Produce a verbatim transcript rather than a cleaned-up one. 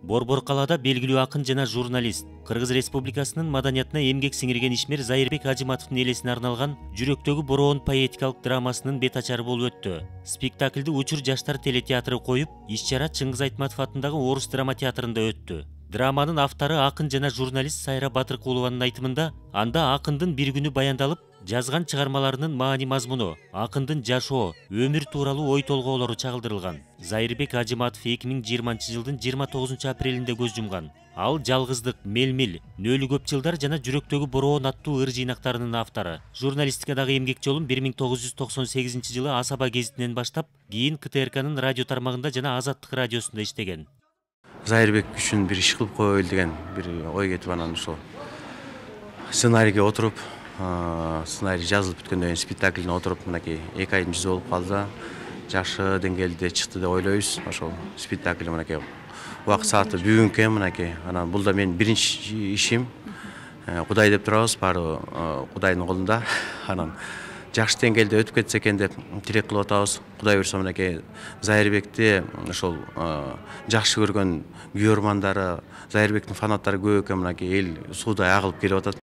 Борбор калаада белгилүү акын жана журналист, Кыргыз Республикасынын маданиятына эмгек сиңирген ишмер Зайырбек Ажиматовдун элесине арналган Жүрөктөгү бороон поэтикалык драмасынын бет ачары болуп өттү. Спектакльди Учур жаштар телетеатры коюп, иш-чара Чыңгыз Айтматов атындагы Орус драма театрында өттү. Драманын автору акын жана журналист Сайра Батыркулованын айтымында, анда акындын бир күнү баяндалып, жазган чыгармаларынын маани мазмуну, акындын жашоо, өмүр тууралуу ой толгоолору чагылдырылган. Зайырбек Ажиматов эки миң жыйырманчы жылдын жыйырма тогузунчу апрелинде көз жумган. Ал жалгыздык, мелмил, нөлү көп жылдар жана Жүрөктөгү бороон аттуу ыр жыйнактарынын автору. Журналистикадагы эмгек жолун бир миң тогуз жүз токсон сегизинчи жылы Асаба гезитинен баштап, кийин К Т Р Кнын радио тармагында жана Азаттык радиосунда иштеген. Зайырбек үчүн бир иш кылып коелу деген бир ой кетип, анан ошол сценарийге отуруп, сценарий жазылып бүткөндөн кийин спектаклине отуруп, мынакей эки айдын жүзү болуп калды да, жакшы деңгээлде чыкты деп ойлойбуз. Ошол спектакль мынакей убакыт сааты бүгүн экен мынакей. Анан бул да менин биринчи ишим. Кудай деп турабыз, баары Кудайдын колунда. Анан жакшы деңгээлде өтүп кетсе экен деп тилек кылып атабыз. Кудай буйрса мынакей Зайырбекти ошол жакшы көргөн күйөрмандары, Зайырбектин фанаттары көп экен, мынакей эл суудай агылып келип атат.